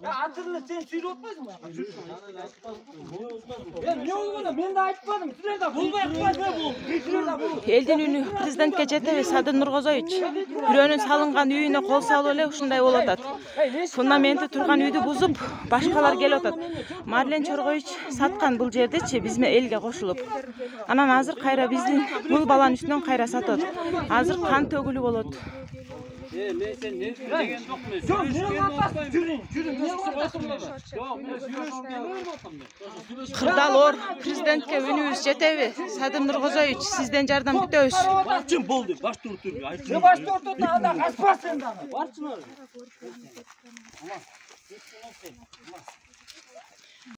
Атырлы sen сүйлөп атпайсыңбы? Эмне болгону? Мен да айтпадым. Силер да болбой атпайсыңар бул. Элдин үнү президентке жетеби Садыр Нуркозоевич. Бирөөнүн салынган үйүнө кол салып эле ушундай болуп атат. Фундаменти турган үйдү бузуп, башкалар келип атат. Марлен Чоргоевич саткан бул жердичи бизме элге кошулуп. Анан азыр кайра биздин бул баланын үстүнөн кайра сатат. Азыр кан төгүлүү болот. Men sen ne деген жокмун. Жок, мен атпас. Жүрүң. Кырдалор, президентке үнүбүз жетеби? Садыр Нуркозоевич, сизден жардам күтөбүз. Барчын болду, баш туруп айтты. Баш туруп анда каспасын анда. Барчын.